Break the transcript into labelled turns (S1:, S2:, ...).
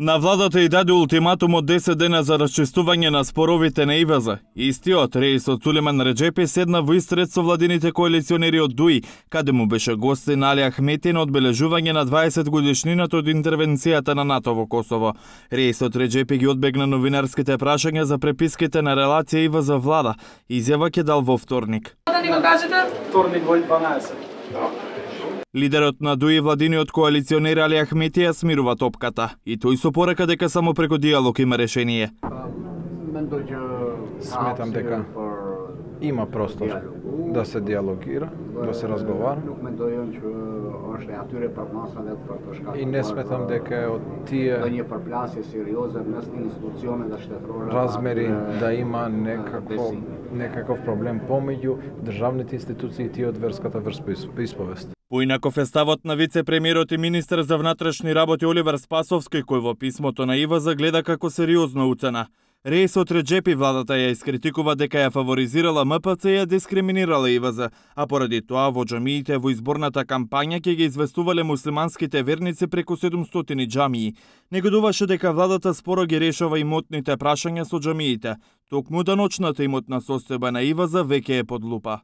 S1: На владата и даде ултиматум од 10 дена за расчистување на споровите на ИВЗ. Истиот Реисот Сулеман Реджепи седна во истрет со владините коалиционери од ДУИ, каде му беше гостин Али Ахмети на одбележување на 20 годишнината од интервенцијата на НАТО во Косово. Реисот Реджепи ги одбегна новинарските прашања за преписките на релација ИВЗ влада. Изјава ќе дал во вторник.
S2: Да ни го кажете?
S3: Вторник во 12.
S1: Лидерот на ДУИ владиниот коалиционер Али Ахмети ја смирува топката и тој со порека дека само преку диалог има решение.
S4: Сметам дека има простор да се диалогира, да се разговара. И не сметам дека од тие размери да има некаков проблем помеѓу државните институции и тие од верската вероисповест.
S1: Поинаков е ставот на вице-премиерот и министер за внатрешни работи Оливер Спасовски, кој во писмото на ИВЗ гледа како сериозна уцена. Реисот Реджепи владата ја искритикува дека ја фаворизирала МПЦ и ја дискриминирала ИВЗ, а поради тоа во џамиите во изборната кампања ќе ги известувале муслиманските верници преку 700 џамии. Негодуваше дека владата споро ги решава имотните прашања со џамиите. Токму даночната имотна состојба на ИВЗ веќе е под лупа.